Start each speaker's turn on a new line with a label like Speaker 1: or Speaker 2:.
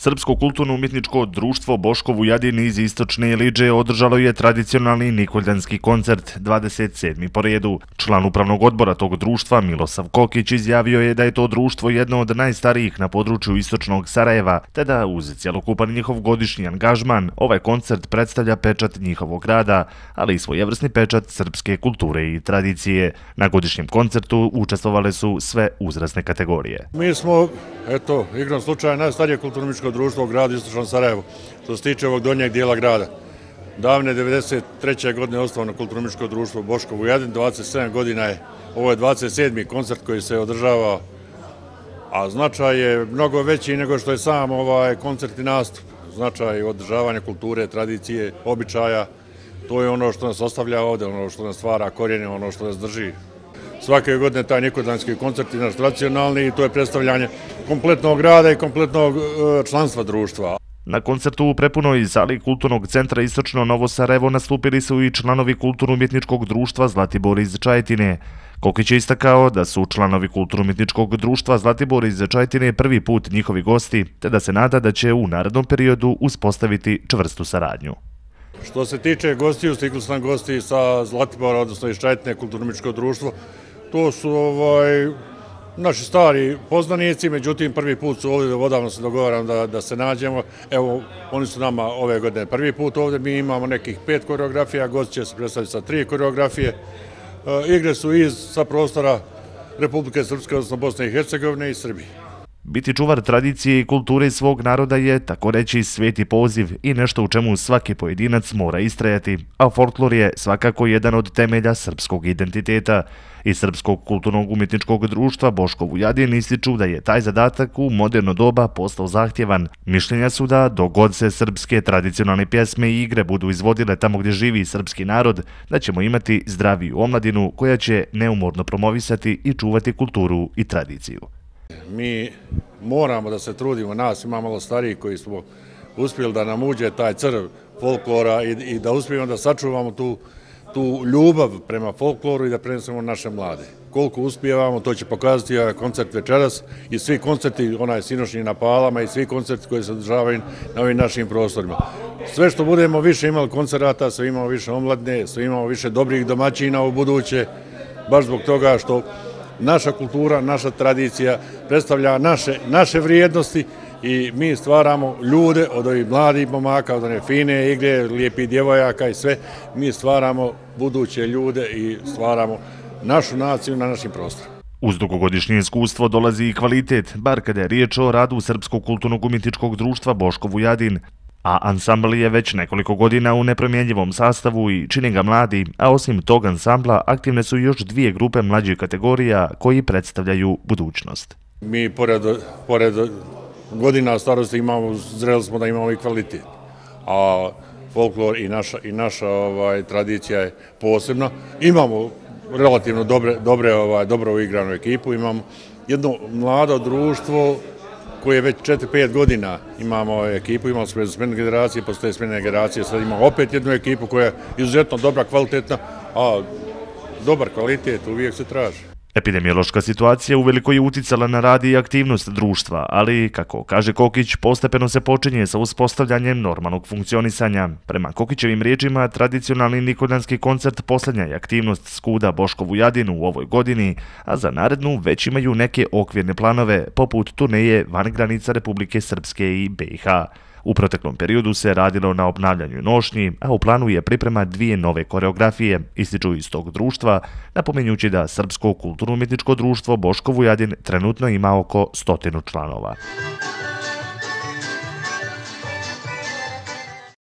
Speaker 1: Srpsko kulturno-umjetničko društvo Boško Vujadin iz Istočne Iliđe održalo je tradicionalni nikoljanski koncert 27. po redu. Član upravnog odbora tog društva Milosav Kokić izjavio je da je to društvo jedno od najstarijih na području Istočnog Sarajeva, te da uz cjelokupan njihov godišnji angažman ovaj koncert predstavlja pečat njihovog rada, ali i svojevrsni pečat srpske kulture i tradicije. Na godišnjem koncertu učestvovale su sve uzrasne kategorije.
Speaker 2: Mi smo, igrom slučaja, najstarije kulturno-umjetničko društvo u gradu Istočnom Sarajevu, što se tiče ovog donjeg dijela grada. Davne 1993. godine osnovano kulturno-umjetničko društvo Boško Vujadin, 27 godina je, ovo je 27. koncert koji se održava, a značaj je mnogo veći nego što je sam ovaj koncert i nastup. Značaj održavanja kulture, tradicije, običaja, to je ono što nas ostavlja ovdje, ono što nas stvara korijene, ono što nas drži. Svake godine taj nikoljanski koncert je naš tradicionalni i to je predstavljanje kompletnog grada i kompletnog članstva društva.
Speaker 1: Na koncertu u prepunoj sali Kulturnog centra Istočno Novo Sarajevo nastupili su i članovi Kulturno-umjetničkog društva Zlatibor iz Čajetine. Kokić je istakao da su članovi Kulturno-umjetničkog društva Zlatibor iz Čajetine prvi put njihovi gosti, te da se nada da će u narednom periodu uspostaviti čvrstu saradnju.
Speaker 2: Što se tiče gostiju, stigli su nam gosti sa Zlatibora, odnosno iz Čajetine, Kulturno-umjetničko društvo. To su naši stari poznanici, međutim prvi put su ovdje, odavno se dogovaram da se nađemo. Evo, oni su nama ove godine prvi put ovdje, mi imamo nekih 5 koreografija, gosti će se predstaviti sa 3 koreografije. Igre su sa prostora Republike Srpske, odnosno Bosne i Hercegovine i Srbije.
Speaker 1: Biti čuvar tradicije i kulture svog naroda je, tako reći, sveti poziv i nešto u čemu svaki pojedinac mora istrajati, a folklor je svakako jedan od temelja srpskog identiteta. Iz Srpskog kulturnog umjetničkog društva Boško Vujadin ističu da je taj zadatak u moderno doba postao zahtjevan. Mišljenja su da dok god se srpske tradicionalne pjesme i igre budu izvodile tamo gdje živi srpski narod, da ćemo imati zdraviju omladinu koja će neumorno promovisati i čuvati kulturu i tradiciju.
Speaker 2: Mi moramo da se trudimo, nas ima malo stariji koji smo uspjeli da nam uđe taj crv folklora i da uspijemo da sačuvamo tu ljubav prema folkloru i da prenesemo naše mlade. Koliko uspijevamo, to će pokazati ovaj koncert večeras i svi koncerti, onaj sinošnji na Palama i svi koncerti koji se održavaju na ovim našim prostorima. Sve što budemo više imali koncerata, sve imamo više omladne, sve imamo više dobrih domaćina u buduće, baš zbog toga što naša kultura, naša tradicija predstavlja naše vrijednosti i mi stvaramo ljude od ovih mladih momaka, od one fine igre, lijepih djevojaka i sve. Mi stvaramo buduće ljude i stvaramo našu naciju na našim prostorima.
Speaker 1: Uz dugogodišnje iskustvo dolazi i kvalitet, bar kada je riječ o radu Srpskog kulturnog umjetničkog društva Boško Vujadin. A ansambl je već nekoliko godina u nepromjenjivom sastavu i čini ga mladi, a osim tog ansambla aktivne su još 2 grupe mlađih kategorija koji predstavljaju budućnost.
Speaker 2: Mi pored godina starosti zreli smo da imamo i kvalitet, a folklor i naša tradicija je posebna. Imamo relativno dobro uigranu ekipu, imamo jedno mlado društvo koje je već 4-5 godina imamo ekipu, imamo smjene generacije, postoje smjene generacije, sad imamo opet jednu ekipu koja je izuzetno dobra, kvalitetna, a dobar kvalitet uvijek se traži.
Speaker 1: Epidemiološka situacija uveliko je uticala na rad i aktivnost društva, ali, kako kaže Kokić, postepeno se počinje sa uspostavljanjem normalnog funkcionisanja. Prema Kokićevim riječima, tradicionalni nikoljanski koncert posljednja je aktivnost skuda Boško Vujadin u ovoj godini, a za narednu već imaju neke okvirne planove, poput turneje van granica Republike Srpske i BiH. U proteklom periodu se radilo na obnavljanju nošnji, a u planu je priprema 2 nove koreografije, ističu iz tog društva, napominjući da Srpsko kulturno-umjetničko društvo Boško Vujadin trenutno ima oko 100 članova.